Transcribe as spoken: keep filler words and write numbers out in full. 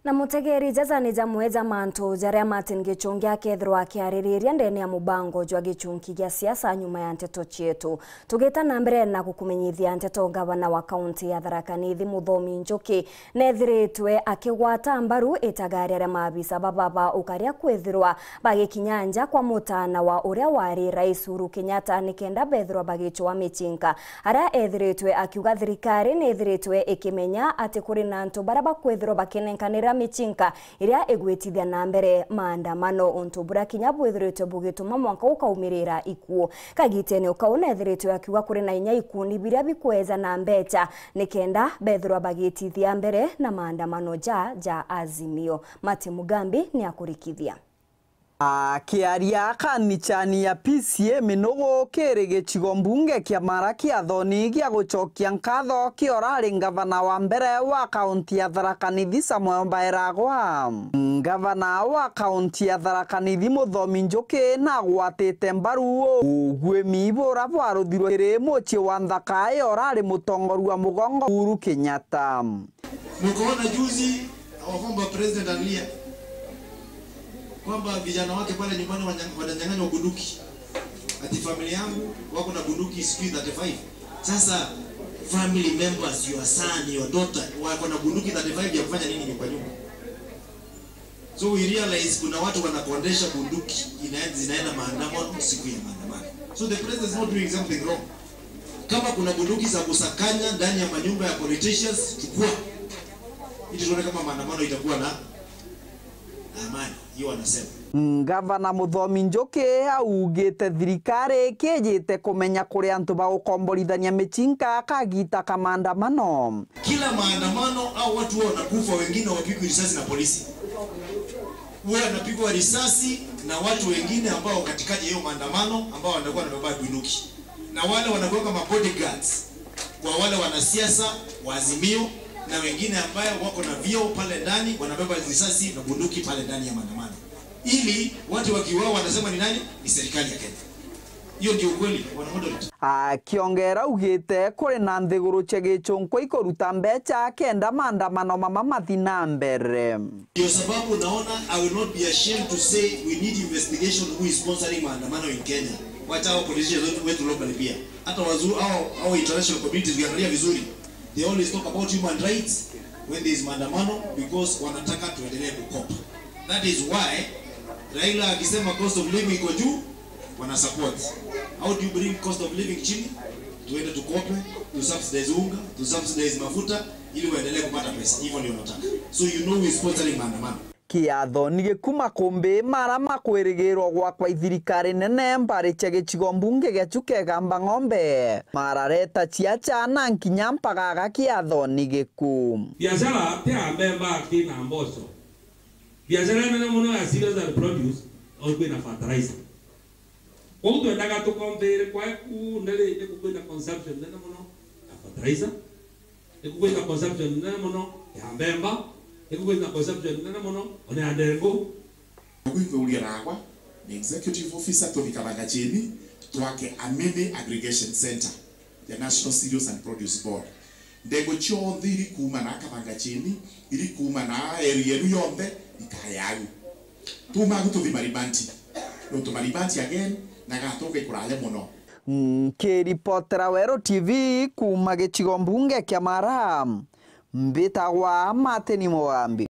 Na mutegeri, jaja ni jamwe ja mantu jaria Martin Gichungi akethirwa akiaririria ndene ya mubango jwa gichunki gia siasa nyuma ya nteto cietu. Tugita na mbere na gukumenyithia nteto, ngavana wa kaunti ya Tharaka Nithi Muthomi Njuki nethiritwe akigwata mbaru itagaria ria maabisa baba ba ukaria kwithirwa bagikinya nja kwa mutana wa uria wari Rais Uhuru Kenyatta nikenda bethirwa bagicwa michinka. Aria ethiritwe akiuga thirikari ni ithiritwe ikimenya ati kuri na antu baria bakwithirwa bakinenkanira michinka iria igwitithia na mbere maandamano, untu buria kinya bwithiritwe bugituma mwanka ukaumirira ikuo. Kagitene ukau nethiritwe akiuga kuri na inya ikundi biria bikweja na mbecha nikenda bethirwa bagitithia mbere na maandamano ja ja Azimio. Martin Mugambi ni akurikithia. Akiaria kanichani ya P C A Minugu kiri gicigo mbunge kia Mara, Kiathoni gia gucokia nkatho kia urari ngavana wa mbere wa kaunti ya Tharaka Nithi Samuel Mbairagwa, ngavana wa kaunti ya Tharaka Nithi Muthomi Njuki nagwatite mbaru ugwimi bura bwaruthirwe kiri mucii wa nthaka ya urari mutongoria wa mugongo Uhuru Kenyatta. Mkaona juzi our former president analia kwamba vijana wake pale nyumbani wanya- wananyang'anywa bunduki, ati familia yangu wako na bunduki sijui thirty-five. Sasa family members, your son, your daughter, wako na bunduki thirty-five ya kufanya nini nyumba nyumba? So we realize kuna watu wanakondesha bunduki inaenda, zinaenda maandamano siku ya maandamano. So the president is not doing something wrong. Kama kuna bunduki za kusakanya ndani ya manyumba ya politicians, chukua ili tuone kama maandamano itakuwa na amani. Hiyo wanasema. Ngavana Muthomi Njuki augite thirikari ikijite kumenya kuri antu ba gukomborithania michinka kagita ka maandamano. Kila maandamano au watu wao wanakufa, wengine wapigwi risasi na polisi. Huwa wanapigwa risasi na watu wengine ambao katikati ya hiyo maandamano ambao wanakuwa wanabeba bunduki. Na wale wanakuwa kama bodyguards kwa wale wanasiasa wa Azimio na wengine ambayo wako na vyeo pale ndani, wanabeba risasi na bunduki pale ndani ya maandamano. Ili watu wakiuawa wanasema ni nani? Ni serikali ya Kenya. Hiyo ndio ukweli, bwana moderator. Akiongera augite kuri na nthiguru cia gichunkwa ikuruta mbecha kenda maandamano mama mathi na mbere. Ndio sababu unaona I will not be ashamed to say we need investigation who is sponsoring maandamano in Kenya. Wacha hao politicians wetu, wetu locally pia. Hata wazungu hao, hao international community ukiangalia vizuri, they always talk about human rights when there is maandamano because wanataka tuendelee kukopa. That is why Raila akisema cost of living iko juu, wana support. How do you bring cost of living chini? Tuende tukope, tu subsidize unga, tu subsidize mafuta ili waendelee kupata pesa. Hivyo ndio wanataka. So you know who is sponsoring maandamano. Kiathoni gikuma kumbi mara makwirigirwo gwakwa ithirikari nene mbari cia gicigo mbunge gia Chuka Igamba Ng'ombe. Marareta ciacha na nkinya mpagaga Kiathoni giku. Biashara ti ya mbemba, ti na mboco. Biashara nene mono ya cereals and produce, au kwina fertilizer. Kwou twendaga tukombire kwa ku ndari ni kukwina consumption nene mono ya fertilizer. Ni kukwina consumption nene mono ya mbemba. Ni kukwina consumption nene mono ona ya ndengu. Kwithuria nagwa ni executive officer tuthikanaga chini twake a mini aggregation center ya National Cereals and Produce Board. Ndengu cionthe iri kuuma na Kathanga chini, iri kuuma na area enu yonthe, ikaya agu. Tuuma agu tuthi Maribanti. Nontu Maribanti again, na gatunga ikuraya mono. Nkiripotera Weru T V kuuma gicigo mbunge kia Mara, mbitagwa Martin Mugambi.